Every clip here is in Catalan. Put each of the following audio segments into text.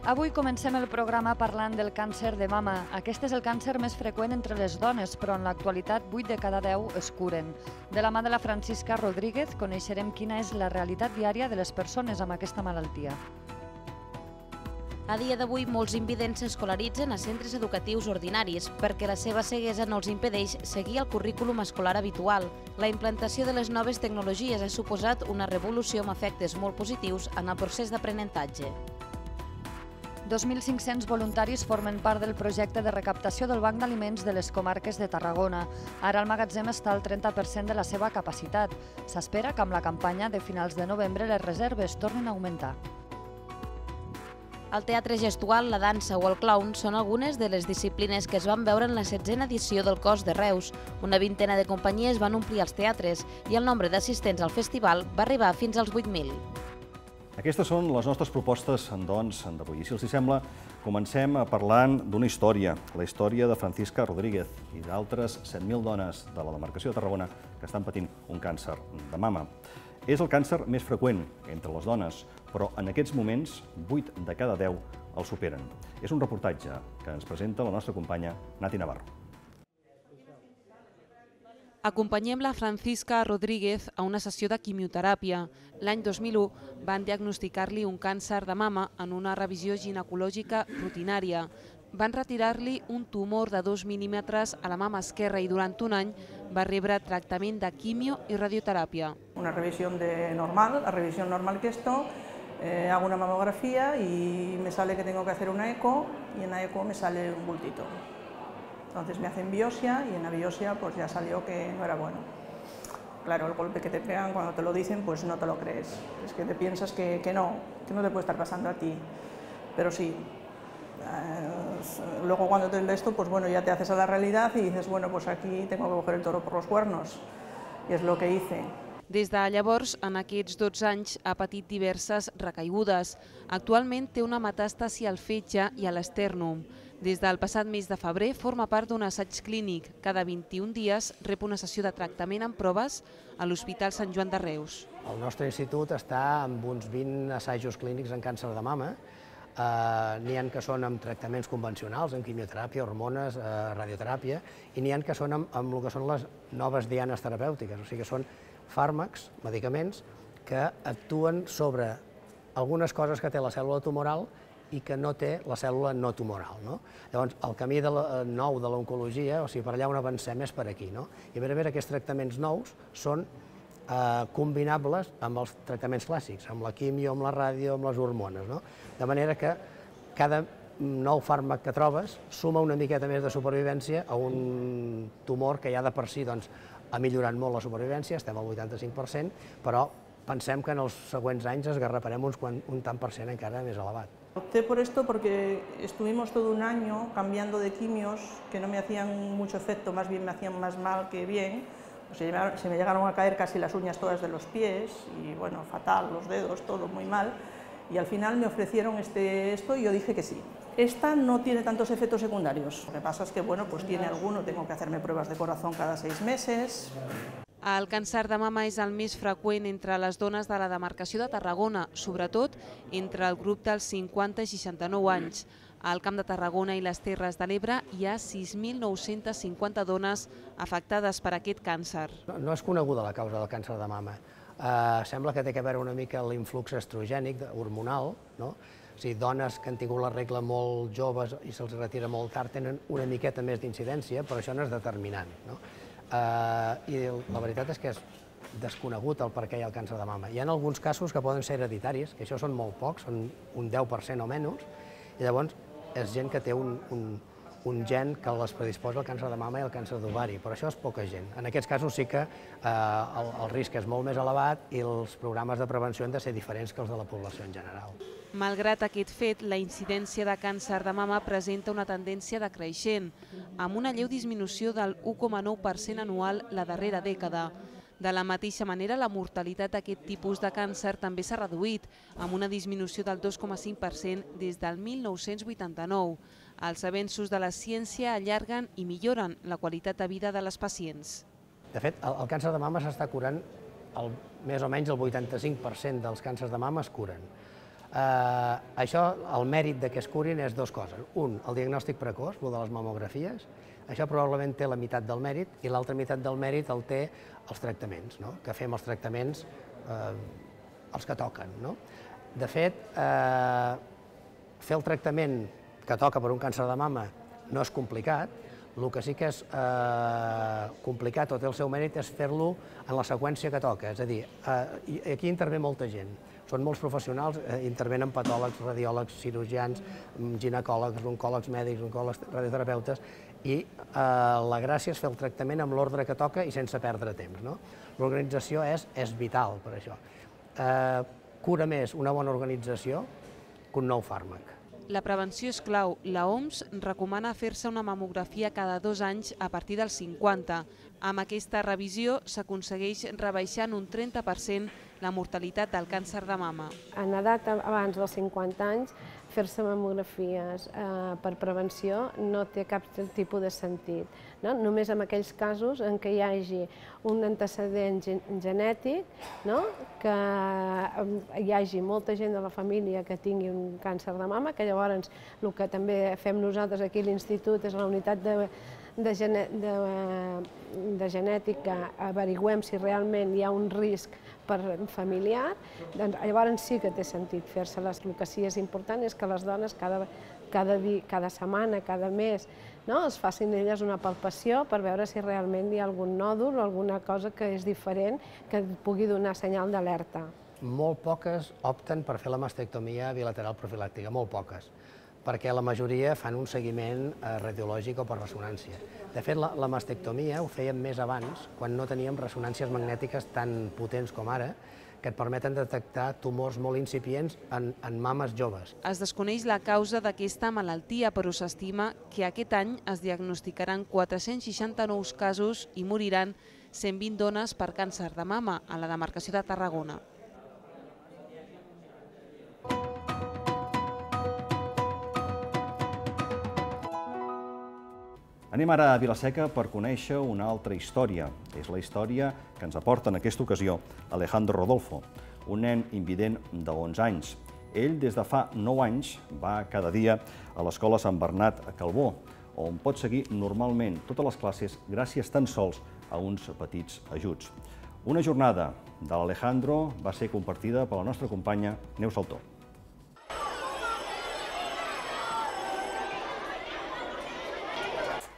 Avui comencem el programa parlant del càncer de mama. Aquest és el càncer més freqüent entre les dones, però en l'actualitat 8 de cada 10 es curen. De la mà de la Francisca Rodríguez coneixerem quina és la realitat diària de les persones amb aquesta malaltia. A dia d'avui, molts invidents s'escolaritzen a centres educatius ordinaris perquè la seva ceguesa no els impedeix seguir el currículum escolar habitual. La implantació de les noves tecnologies ha suposat una revolució amb efectes molt positius en el procés d'aprenentatge. 2.500 voluntaris formen part del projecte de recaptació del Banc d'Aliments de les comarques de Tarragona. Ara el magatzem està al 30% de la seva capacitat. S'espera que amb la campanya de finals de novembre les reserves tornin a augmentar. El teatre gestual, la dansa o el clown són algunes de les disciplines que es van veure en la 16a edició del Cos de Reus. Una vintena de companyies van omplir els teatres i el nombre d'assistents al festival va arribar fins als 8.000. Aquestes són les nostres propostes, doncs, d'avui. I si els sembla, comencem parlant d'una història, la història de Francisca Rodríguez i d'altres 7.000 dones de la demarcació de Tarragona que estan patint un càncer de mama. És el càncer més freqüent entre les dones, però en aquests moments 8 de cada 10 el superen. És un reportatge que ens presenta la nostra companya Nati Navarro. Acompanyem la Francisca Rodríguez a una sessió de quimioteràpia. L'any 2001 van diagnosticar-li un càncer de mama en una revisió ginecològica rutinària. Van retirar-li un tumor de 2 mil·límetres a la mama esquerra i durant un any va rebre tractament de quimio i radioteràpia. Una revisión normal, la revisión normal que esto, hago una mamografía y me sale que tengo que hacer una eco y en la eco me sale un bultito. Entonces me hacen biopsia y en la biopsia pues ya salió que no era bueno. Claro, el golpe que te pegan cuando te lo dicen pues no te lo crees. Es que te piensas que no te puede estar pasando a ti. Pero sí, luego cuando te ves esto pues bueno, ya te haces a la realidad y dices bueno, pues aquí tengo que coger el toro por los cuernos. I és el que hice. Des de llavors, en aquests 12 anys, ha patit diverses recaigudes. Actualment té una metàstasi al fetge i a l'estèrnum. Des del passat mes de febrer forma part d'un assaig clínic. Cada 21 dies rep una sessió de tractament amb proves a l'Hospital Sant Joan de Reus. El nostre institut està amb uns 20 assajos clínics en càncer de mama. N'hi ha que són amb tractaments convencionals, amb quimioteràpia, hormones, radioteràpia, i n'hi ha que són amb el que són les noves dianes terapèutiques, o sigui que són fàrmacs, medicaments, que actuen sobre algunes coses que té la cèl·lula tumoral i que no té la cèl·lula no tumoral. Llavors, el camí nou de l'oncologia, o sigui, per allà on avancem és per aquí. I a veure, aquests tractaments nous són combinables amb els tractaments clàssics, amb la quimio, amb la ràdio, amb les hormones. De manera que cada nou fàrmac que trobes suma una miqueta més de supervivència a un tumor que ja de per si ha millorat molt la supervivència, estem al 85%, però pensem que en els següents anys esgarraparem un tant per cent encara més elevat. Opté por esto porque estuvimos todo un año cambiando de quimios que no me hacían mucho efecto, más bien me hacían más mal que bien. Se me llegaron a caer casi las uñas todas de los pies y bueno, fatal, los dedos, todo muy mal. Y al final me ofrecieron esto y yo dije que sí. Esta no tiene tantos efectos secundarios. Lo que pasa es que bueno, pues tiene alguno, tengo que hacerme pruebas de corazón cada 6 meses. El càncer de mama és el més freqüent entre les dones de la demarcació de Tarragona, sobretot entre el grup dels 50 i 69 anys. Al Camp de Tarragona i les Terres de l'Ebre hi ha 6.950 dones afectades per aquest càncer. No és coneguda la causa del càncer de mama. Sembla que té a veure una mica l'influx estrogènic hormonal. O sigui, dones que han tingut la regla molt joves i se'ls retira molt tard tenen una miqueta més d'incidència, però això no és determinant. I la veritat és que és desconegut el per què hi ha el càncer de mama. Hi ha alguns casos que poden ser hereditaris, que això són molt pocs, són un 10% o menys, i llavors és gent que té un gen que les predisposa al càncer de mama i al càncer d'ovari, però això és poca gent. En aquests casos sí que el risc és molt més elevat i els programes de prevenció han de ser diferents que els de la població en general. Malgrat aquest fet, la incidència de càncer de mama presenta una tendència decreixent, amb una lleu disminució del 1,9% anual la darrera dècada. De la mateixa manera, la mortalitat d'aquest tipus de càncer també s'ha reduït, amb una disminució del 2,5% des del 1989. Els avenços de la ciència allarguen i milloren la qualitat de vida de les pacients. De fet, el càncer de mama s'està curant, més o menys el 85% dels càncers de mama es curen. Això, el mèrit de que es curin és dues coses. Un, el diagnòstic precoç, el de les mamografies, això probablement té la meitat del mèrit i l'altra meitat del mèrit el té els tractaments, que fem els tractaments els que toquen. De fet, fer el tractament que toca per un càncer de mama no és complicat, el que sí que és complicat o té el seu mèrit és fer-lo en la seqüència que toca, és a dir, aquí intervé molta gent. Són molts professionals, intervenen patòlegs, radiòlegs, cirurgians, ginecòlegs, oncòlegs mèdics, oncòlegs radioterapeutes, i la gràcia és fer el tractament amb l'ordre que toca i sense perdre temps. L'organització és vital per això. Cura més una bona organització que un nou fàrmac. La prevenció és clau. La OMS recomana fer-se una mamografia cada 2 anys a partir dels 50. Amb aquesta revisió s'aconsegueix rebaixar en un 30% la mortalitat del càncer de mama. En edat abans dels 50 anys, fer-se mamografies per prevenció no té cap tipus de sentit. Només en aquells casos en què hi hagi un antecedent genètic, que hi hagi molta gent de la família que tingui un càncer de mama, que llavors el que també fem nosaltres aquí a l'institut és la unitat de genètica, averiguem si realment hi ha un risc familiar, doncs llavors sí que té sentit fer-se-les. El que sí és important és que les dones cada setmana, cada mes, es facin elles una palpació per veure si realment hi ha algun nòdul o alguna cosa que és diferent que pugui donar senyal d'alerta. Molt poques opten per fer la mastectomia bilateral profilàctica, molt poques, perquè la majoria fan un seguiment radiològic o per ressonància. De fet, la mastectomia ho fèiem més abans, quan no teníem ressonàncies magnètiques tan potents com ara, que et permeten detectar tumors molt incipients en mames joves. Es desconeix la causa d'aquesta malaltia, però s'estima que aquest any es diagnosticaran 460 nous casos i moriran 120 dones per càncer de mama a la demarcació de Tarragona. Anem ara a Vila-seca per conèixer una altra història. És la història que ens aporta en aquesta ocasió Alejandro Rodolfo, un nen invident de 11 anys. Ell, des de fa 9 anys, va cada dia a l'escola Sant Bernat a Calbó, on pot seguir normalment totes les classes gràcies tan sols a uns petits ajuts. Una jornada de l'Alejandro va ser compartida per la nostra companya Neus Saltó.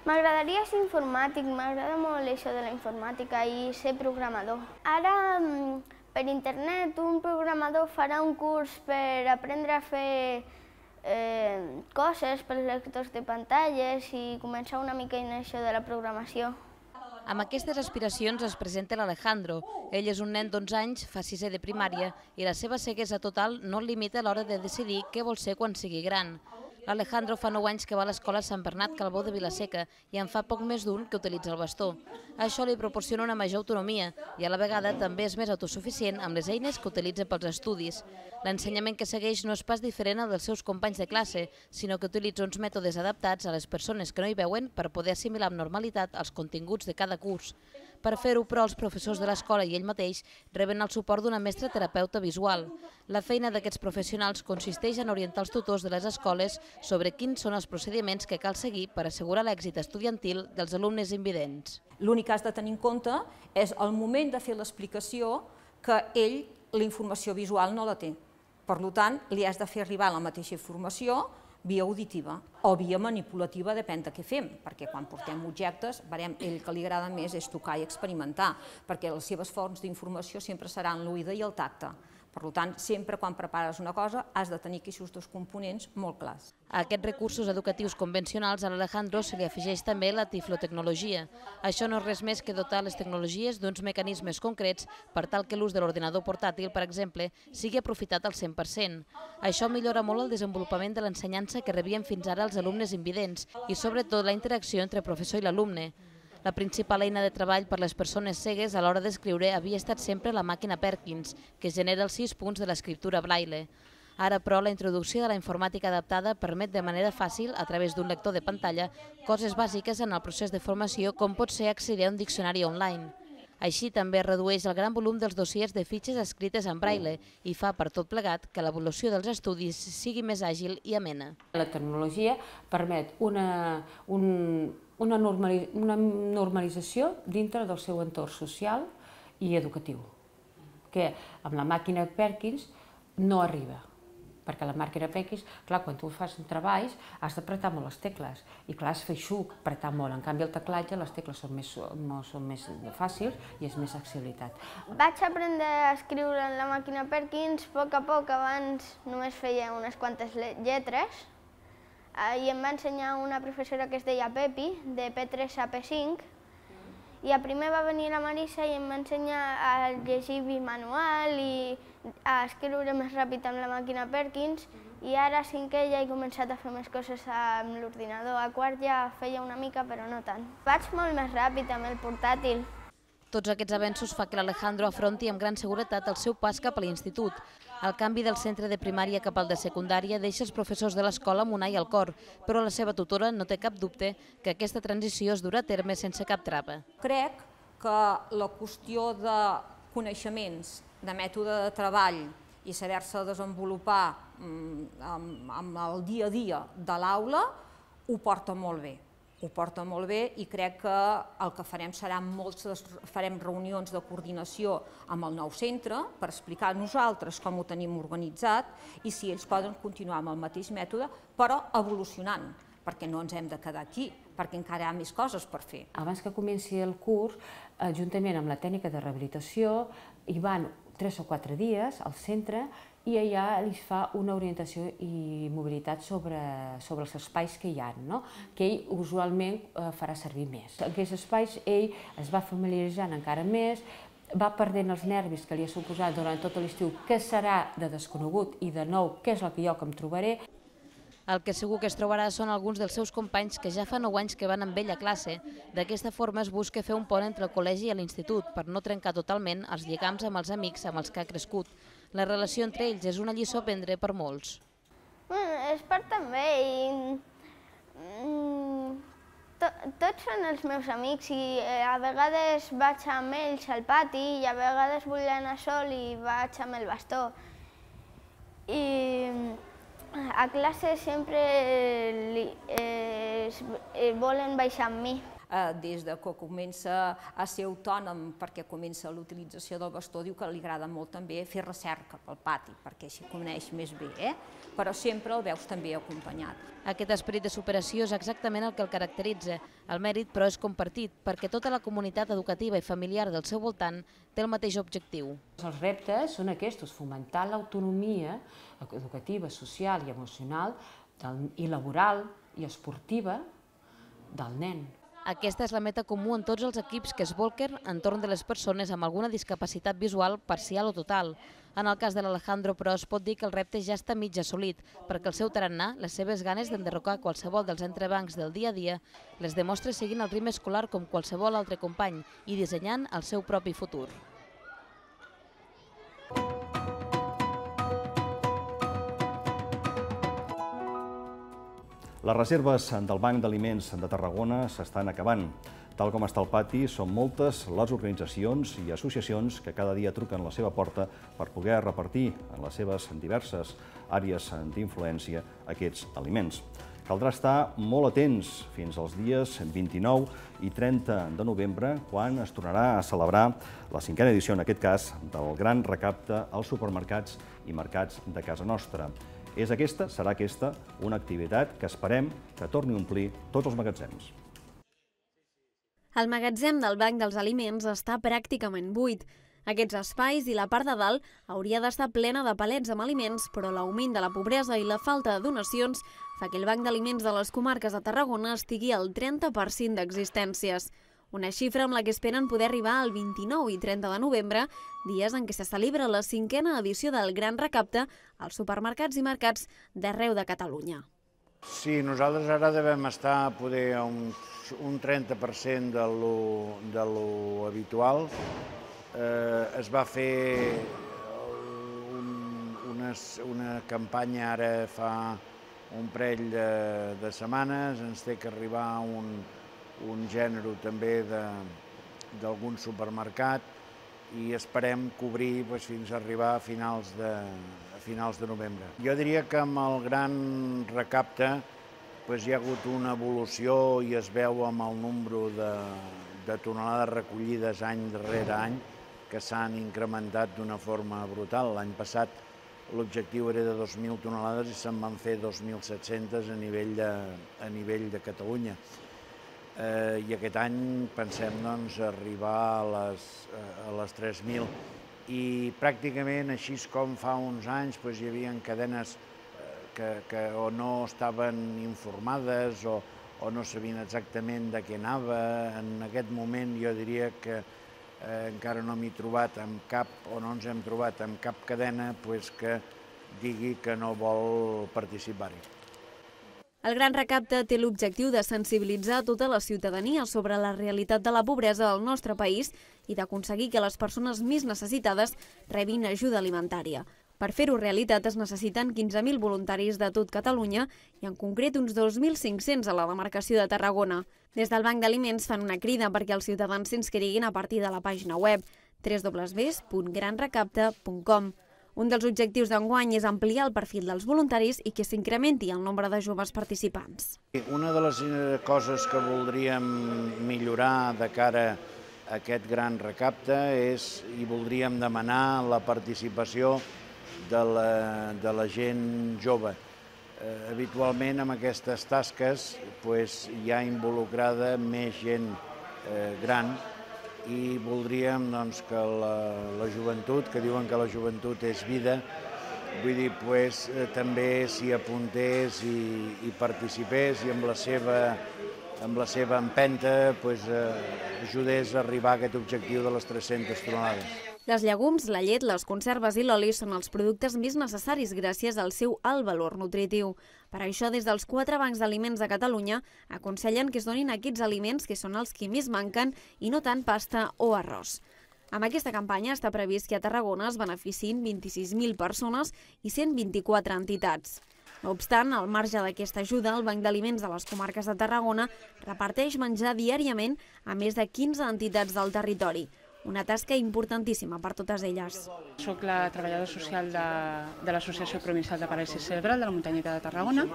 M'agradaria ser informàtic, m'agrada molt això de la informàtica i ser programador. Ara, per internet, un programador farà un curs per aprendre a fer coses per lectors de pantalles i començar una mica en això de la programació. Amb aquestes aspiracions es presenta l'Alejandro. Ell és un nen d'11 anys, fa 6è de primària, i la seva ceguesa total no el limita a l'hora de decidir què vol ser quan sigui gran. L'Alejandro fa 9 anys que va a l'escola Sant Bernat Calbó de Vila-seca i en fa poc més d'un que utilitza el bastó. Això li proporciona una major autonomia i a la vegada també és més autosuficient amb les eines que utilitza pels estudis. L'ensenyament que segueix no és pas diferent al dels seus companys de classe, sinó que utilitza uns mètodes adaptats a les persones que no hi veuen per poder assimilar amb normalitat els continguts de cada curs. Per fer-ho, però, els professors de l'escola i ell mateix reben el suport d'una mestra terapeuta visual. La feina d'aquests professionals consisteix en orientar els tutors de les escoles sobre quins són els procediments que cal seguir per assegurar l'èxit estudiantil dels alumnes invidents. L'únic que has de tenir en compte és el moment de fer l'explicació que ell, la informació visual, no la té. Per tant, li has de fer arribar la mateixa informació via auditiva o via manipulativa, depèn de què fem, perquè quan portem objectes, veurem, ell que li agrada més és tocar i experimentar, perquè les seves fonts d'informació sempre seran l'oïda i el tacte. Per tant, sempre quan prepares una cosa has de tenir aquests dos components molt clars. A aquests recursos educatius convencionals a l'Alejandro se li afegeix també la tiflotecnologia. Això no és res més que dotar les tecnologies d'uns mecanismes concrets per tal que l'ús de l'ordinador portàtil, per exemple, sigui aprofitat al 100%. Això millora molt el desenvolupament de l'ensenyança que rebien fins ara els alumnes invidents i sobretot la interacció entre professor i l'alumne. La principal eina de treball per les persones cegues a l'hora d'escriure havia estat sempre la màquina Perkins, que genera els 6 punts de l'escriptura Braille. Ara, però, la introducció de la informàtica adaptada permet de manera fàcil, a través d'un lector de pantalla, coses bàsiques en el procés de formació com pot ser accedir a un diccionari online. Així també redueix el gran volum dels dossiers de fitxes escrites en braille i fa per tot plegat que l'evolució dels estudis sigui més àgil i amena. La tecnologia permet una normalització dintre del seu entorn social i educatiu, que amb la màquina Perkins no arriba. Perquè la màquina Perkins, clar, quan tu fas treballs has d'apretar molt les tecles i clar, es feixuc apretar molt. En canvi, el teclatge, les tecles són més fàcils i és més accessibilitat. Vaig aprendre a escriure en la màquina Perkins a poc, abans només feia unes quantes lletres i em va ensenyar una professora que es deia Pepi, de P3 a P5, i a primer va venir la Marisa i em va ensenyar a llegir bimanual i a escriure més ràpid amb la màquina Perkins, i ara a cinquè ja he començat a fer més coses amb l'ordinador. A quart ja feia una mica, però no tant. Vaig molt més ràpid amb el portàtil. Tots aquests avenços fa que l'Alejandro afronti amb gran seguretat el seu pas cap a l'institut. El canvi del centre de primària cap al de secundària deixa els professors de l'escola amb un ai al cor, però la seva tutora no té cap dubte que aquesta transició es durà a terme sense cap trava. Crec que la qüestió de coneixements, de mètode de treball i saber-se desenvolupar amb el dia a dia de l'aula ho porta molt bé. Ho porta molt bé i crec que el que farem serà farem reunions de coordinació amb el nou centre per explicar a nosaltres com ho tenim organitzat i si ells poden continuar amb el mateix mètode, però evolucionant, perquè no ens hem de quedar aquí, perquè encara hi ha més coses per fer. Abans que comenci el curs, juntament amb la tècnica de rehabilitació, hi van 3 o 4 dies al centre i allà li fa una orientació i mobilitat sobre els espais que hi ha, que ell usualment farà servir més. En aquests espais ell es va familiaritzant encara més, va perdent els nervis que li ha suposat durant tot l'estiu, què serà de desconegut i de nou, què és el que jo em trobaré. El que segur que es trobarà són alguns dels seus companys que ja fa 9 anys que van amb ell a classe. D'aquesta forma es busca fer un pont entre el col·legi i l'institut per no trencar totalment els lligams amb els amics amb els que ha crescut. La relació entre ells és una lliçó a prendre per molts. És per també i tots són els meus amics i a vegades vaig amb ells al pati i a vegades vull anar sol i vaig amb el bastó. I a classe sempre volen baixar amb mi. Des que comença a ser autònom perquè comença l'utilització del bastó, diu que li agrada molt també fer recerca pel pati, perquè s'hi coneix més bé, però sempre el veus també acompanyat. Aquest esperit de superació és exactament el que el caracteritza. El mèrit, però, és compartit, perquè tota la comunitat educativa i familiar del seu voltant té el mateix objectiu. Els reptes són aquests, fomentar l'autonomia educativa, social i emocional i laboral i esportiva del nen. Aquesta és la meta comú en tots els equips que es bolquen entorn de les persones amb alguna discapacitat visual parcial o total. En el cas de l'Alejandro, però, es pot dir que el repte ja està mig assolit, perquè el seu tarannà, les seves ganes d'enderrocar qualsevol dels entrebancs del dia a dia, les demostra seguint el ritme escolar com qualsevol altre company i dissenyant el seu propi futur. Les reserves del Banc d'Aliments de Tarragona s'estan acabant. Tal com està el pati, són moltes les organitzacions i associacions que cada dia truquen a la seva porta per poder repartir en les seves diverses àrees d'influència aquests aliments. Caldrà estar molt atents fins als dies 29 i 30 de novembre, quan es tornarà a celebrar la 5a edició, en aquest cas, del gran recapte als supermercats i mercats de casa nostra. Serà aquesta una activitat que esperem que torni a omplir tots els magatzems. El magatzem del Banc dels Aliments està pràcticament buit. Aquests espais i la part de dalt hauria d'estar plena de palets amb aliments, però l'augment de la pobresa i la falta de donacions fa que el Banc d'Aliments de les comarques de Tarragona estigui al 30% d'existències. Una xifra amb la que esperen poder arribar al 29 i 30 de novembre, dies en què se celebra la 5a edició del Gran Recapte als supermercats i mercats d'arreu de Catalunya. Sí, nosaltres ara devem estar poder a un 30% de lo habitual. Es va fer una campanya ara fa un parell de setmanes, ens té que arribar un gènere també d'algun supermercat i esperem cobrir fins a arribar a finals de novembre. Jo diria que amb el gran recapte hi ha hagut una evolució i es veu amb el nombre de tonelades recollides any darrere any que s'han incrementat d'una forma brutal. L'any passat l'objectiu era de 2.000 tonelades i se'n van fer 2.700 a nivell de Catalunya. I aquest any pensem arribar a les 3.000. I pràcticament, així com fa uns anys, hi havia cadenes que o no estaven informades o no sabien exactament de què anava. En aquest moment jo diria que encara no m'he trobat amb cap, o no ens hem trobat amb cap cadena que digui que no vol participar-hi. El Gran Recapte té l'objectiu de sensibilitzar tota la ciutadania sobre la realitat de la pobresa al nostre país i d'aconseguir que les persones més necessitades rebin ajuda alimentària. Per fer-ho realitat es necessiten 15.000 voluntaris de tot Catalunya i en concret uns 2.500 a la demarcació de Tarragona. Des del Banc d'Aliments fan una crida perquè els ciutadans s'inscriguin a partir de la pàgina web www.granrecapte.com. Un dels objectius d'enguany és ampliar el perfil dels voluntaris i que s'incrementi el nombre de joves participants. Una de les coses que voldríem millorar de cara a aquest gran recapte és, i voldríem demanar, la participació de la gent jove. Habitualment en aquestes tasques hi ha involucrada més gent gran i voldríem que la joventut, que diuen que la joventut és vida, també s'hi apuntés i participés i amb la seva empenta ajudés a arribar a aquest objectiu de les 300 tonelades. Les llegums, la llet, les conserves i l'oli són els productes més necessaris gràcies al seu alt valor nutritiu. Per això, des dels 4 bancs d'aliments de Catalunya, aconsellen que es donin aquests aliments que són els que més manquen i no tant pasta o arròs. Amb aquesta campanya està previst que a Tarragona es beneficiïn 26.000 persones i 124 entitats. No obstant, al marge d'aquesta ajuda, el Banc d'Aliments de les comarques de Tarragona reparteix menjar diàriament a més de 15 entitats del territori. Una tasca importantíssima per totes elles. Soc la treballadora social de l'Associació Provincial de Paràlisi Cerebral de la Muntanyeta de Tarragona.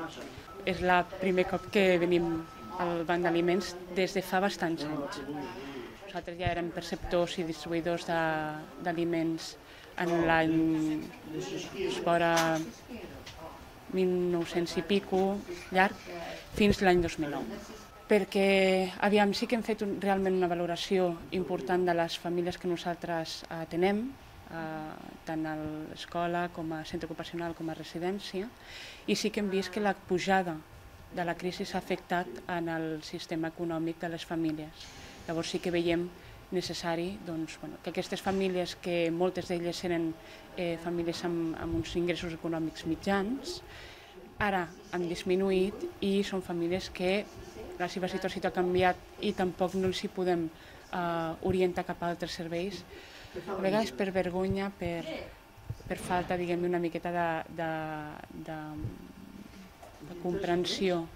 És el primer cop que venim al Banc d'Aliments des de fa bastants anys. Nosaltres ja érem perceptors i distribuïdors d'aliments en l'any fora 1900 i pico, llarg, fins l'any 2009. Perquè sí que hem fet realment una valoració important de les famílies que nosaltres atenem, tant a l'escola com a centre ocupacional com a residència, i sí que hem vist que la pujada de la crisi s'ha afectat en el sistema econòmic de les famílies. Llavors sí que veiem necessari que aquestes famílies, que moltes d'elles eren famílies amb uns ingressos econòmics mitjans, ara han disminuït i són famílies que la seva situació ha canviat i tampoc no els hi podem orientar cap a altres serveis, a vegades per vergonya, per falta, diguem-ne, una miqueta de comprensió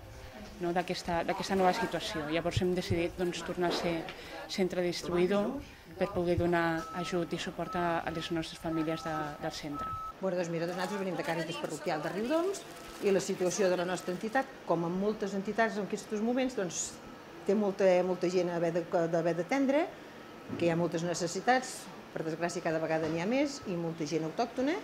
d'aquesta nova situació. Llavors hem decidit tornar a ser centre distribuïdor per poder donar ajut i suport a les nostres famílies del centre. Nosaltres venim de Càritas Parroquial de Riudoms i la situació de la nostra entitat, com en moltes entitats en aquests moments, té molta gent a haver d'atendre, que hi ha moltes necessitats, per desgràcia cada vegada n'hi ha més, i molta gent autòctona,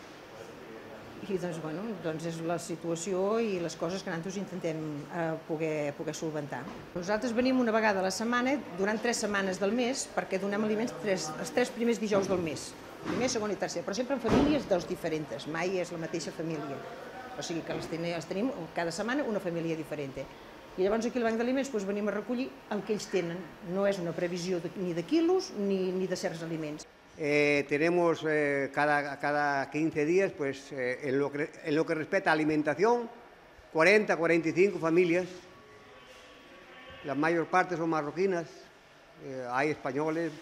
i és la situació i les coses que nosaltres intentem poder solventar. Nosaltres venim una vegada a la setmana, durant 3 setmanes del mes, perquè donem aliments els 3 primers dijous del mes, primer, segon i tercer, però sempre en famílies diferents, mai és la mateixa família. O sigui que els tenim cada setmana una família diferent. I llavors aquí al Banc d'Aliments venim a recollir el que ells tenen. No és una previsió ni de quilos ni de certs aliments. Tenemos cada 15 días, en lo que respecta a alimentación, 40, 45 familias. La mayor parte son marroquinas, hay españoles,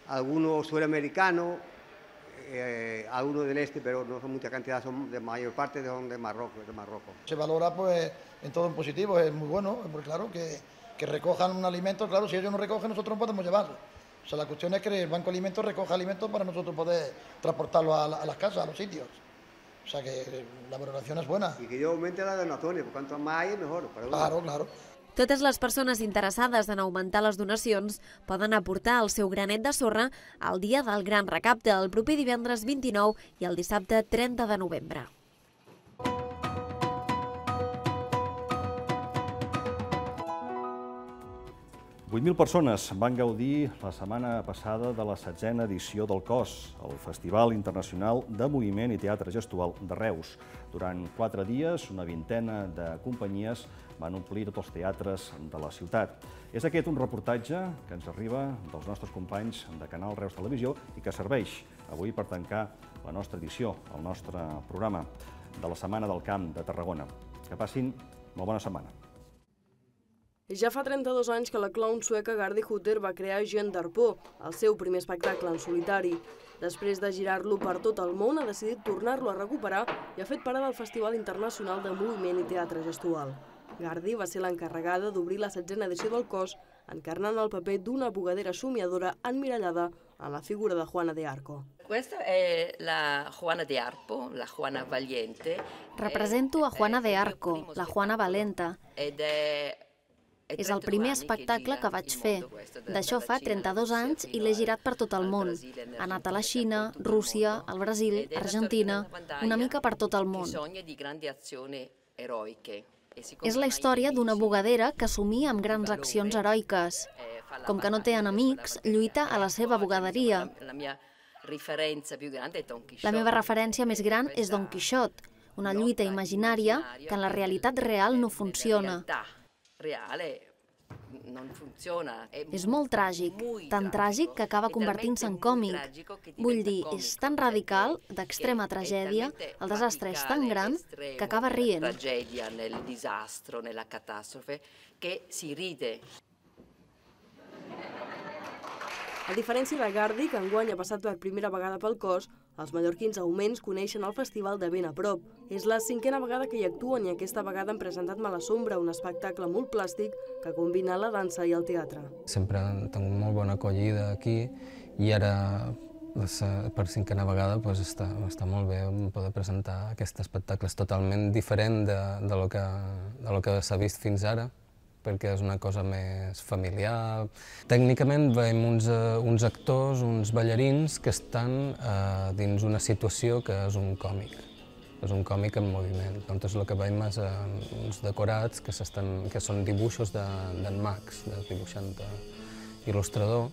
algunos sudamericanos, algunos del este, pero no son mucha cantidad, son de mayor parte son de Marruecos. Se valora en todo en positivo, es muy bueno, porque claro que que recojan un alimento, claro, si ellos no recogen, nosotros no podemos llevarlo. O sea, la cuestión es que el Banco de Alimentos recoja alimentos para nosotros poder transportarlo a las casas, a los sitios. O sea que la valoración es buena. Y que yo aumente las donaciones, porque cuanto más hay, mejor. Claro, claro. Totes les persones interessades en augmentar les donacions poden aportar el seu granet de sorra al dia del Gran Recapte, el proper divendres 29 i el dissabte 30 de novembre. 8.000 persones van gaudir la setmana passada de la 16a edició del COS, el Festival Internacional de Moviment i Teatre Gestual de Reus. Durant 4 dies, una vintena de companyies van omplir tots els teatres de la ciutat. És aquest un reportatge que ens arriba dels nostres companys de Canal Reus Televisió i que serveix avui per tancar la nostra edició, el nostre programa de la Setmana del Camp de Tarragona. Que passin molt bona setmana. Ja fa 32 anys que la clown sueca Gardi Hutter va crear Jean d'Arpó, el seu primer espectacle en solitari. Després de girar-lo per tot el món, ha decidit tornar-lo a recuperar i ha fet parada al Festival Internacional de Moviment i Teatre Gestual. Gardi va ser l'encarregada d'obrir la 16a edició del COS, encarnant el paper d'una bugadera somiadora emmirallada en la figura de Juana de Arco. Questa è la Juana de Arco, la Juana Valiente. Represento a Juana de Arco, la Juana Valenta. És el primer espectacle que vaig fer. D'això fa 32 anys i l'he girat per tot el món. Ha anat a la Xina, Rússia, al Brasil, Argentina, una mica per tot el món. És la història d'una bugadera que somia amb grans accions heroiques. Com que no té enemics, lluita a la seva bugaderia. La meva referència més gran és Don Quixot, una lluita imaginària que en la realitat real no funciona. És molt tràgic, tan tràgic que acaba convertint-se en còmic. Vull dir, és tan radical, d'extrema tragèdia, el desastre és tan gran que acaba rient. A diferència de Gardi, que enguany ha passat per primera vegada pel COS, els mallorquins augments coneixen el festival de ben a prop. És la 5a vegada que hi actuen i aquesta vegada han presentat Malasombra, un espectacle molt plàstic que combina la dansa i el teatre. Sempre han tingut molt bona acollida aquí i ara, per 5a vegada, està molt bé poder presentar aquest espectacle. És totalment diferent de lo que s'ha vist fins ara, perquè és una cosa més familiar. Tècnicament veiem uns actors, uns ballarins que estan dins una situació que és un còmic. És un còmic en moviment. Llavors el que veiem és uns decorats que són dibuixos d'en Max, del dibuixant il·lustrador.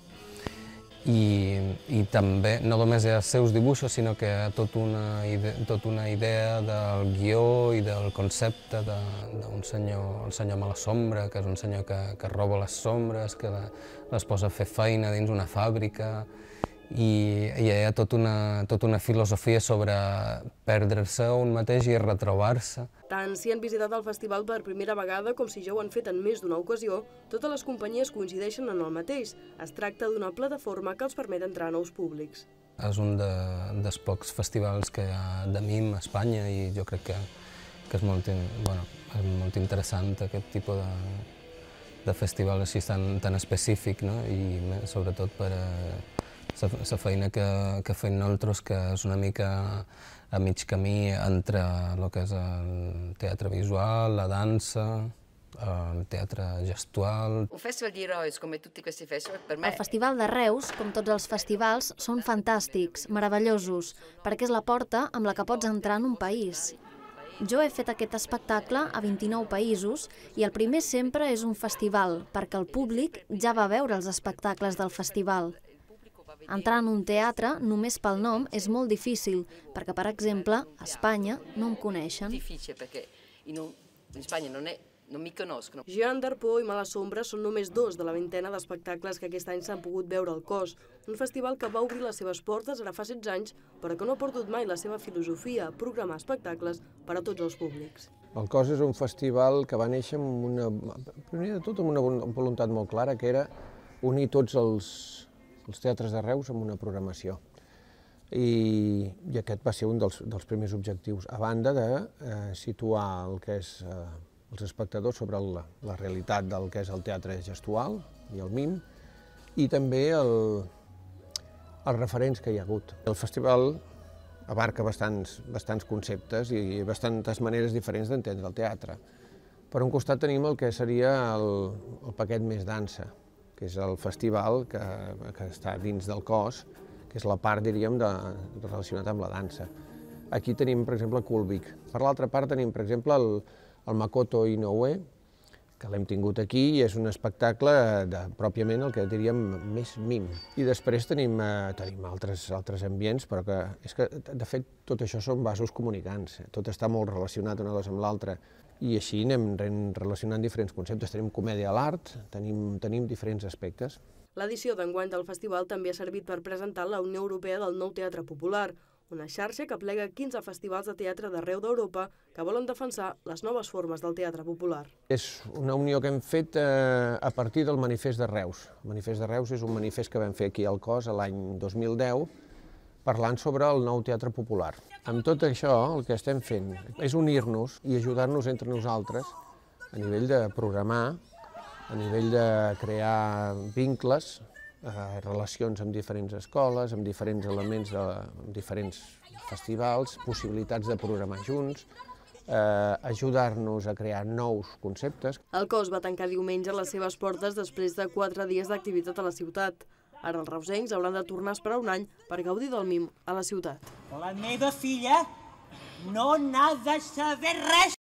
I també, no només hi ha els seus dibuixos, sinó que hi ha tota una idea del guió i del concepte d'un senyor, el senyor Malasombra, que és un senyor que roba les sombres, que les posa a fer feina dins una fàbrica, i hi ha tota una filosofia sobre perdre-se un mateix i retrobar-se. Tant si han visitat el festival per primera vegada com si ja ho han fet en més d'una ocasió, totes les companyies coincideixen en el mateix. Es tracta d'una plataforma que els permet entrar a nous públics. És un dels pocs festivals que hi ha de mim a Espanya i jo crec que és molt interessant aquest tipus de festival així tan específic, i sobretot per la feina que fem nosaltres, que és una mica a mig camí entre el que és el teatre visual, la dansa, el teatre gestual. Un festival di Reus, come tutti questi festival, per me... El Festival de Reus, com tots els festivals, són fantàstics, meravellosos, perquè és la porta amb la que pots entrar en un país. Jo he fet aquest espectacle a 29 països i el primer sempre és un festival, perquè el públic ja va veure els espectacles del festival. Entrar en un teatre, només pel nom, és molt difícil, perquè, per exemple, a Espanya no em coneixen. Jean d'Arpó i Malasombra són només 2 de la vintena d'espectacles que aquest any s'han pogut veure al COS, un festival que va obrir les seves portes ara fa 16 anys, però que no ha perdut mai la seva filosofia, programar espectacles per a tots els públics. El COS és un festival que va néixer primer de tot amb una voluntat molt clara, que era unir tots els teatres de Reus amb una programació. I aquest va ser un dels primers objectius, a banda de situar el que és els espectadors sobre la realitat del que és el teatre gestual i el mim, i també els referents que hi ha hagut. El festival abarca bastants conceptes i bastantes maneres diferents d'entendre el teatre. Per un costat tenim el que seria el paquet més dansa, que és el festival que està dins del cos, que és la part, diríem, relacionada amb la dansa. Aquí tenim, per exemple, Kulvik. Per l'altra part tenim, per exemple, el Makoto Inoue, que l'hem tingut aquí i és un espectacle pròpiament el que diríem més mim. I després tenim altres ambients, però és que, de fet, tot això són vasos comunicants. Tot està molt relacionat una cosa amb l'altra. I així anem relacionant diferents conceptes. Tenim comèdia a l'art, tenim diferents aspectes. L'edició d'enguany del festival també ha servit per presentar la Unió Europea del Nou Teatre Popular, una xarxa que aplega 15 festivals de teatre d'arreu d'Europa que volen defensar les noves formes del teatre popular. És una unió que hem fet a partir del Manifest de Reus. El Manifest de Reus és un manifest que vam fer aquí al Cos l'any 2010, parlant sobre el nou teatre popular. Amb tot això, el que estem fent és unir-nos i ajudar-nos entre nosaltres a nivell de programar, a nivell de crear vincles, relacions amb diferents escoles, amb diferents elements, amb diferents festivals, possibilitats de programar junts, ajudar-nos a crear nous conceptes. El Cos va tancar diumenge les seves portes després de 4 dies d'activitat a la ciutat. Ara els reusencs hauran de tornar a esperar un any per gaudir del mim a la ciutat. La meva filla no n'ha de saber res.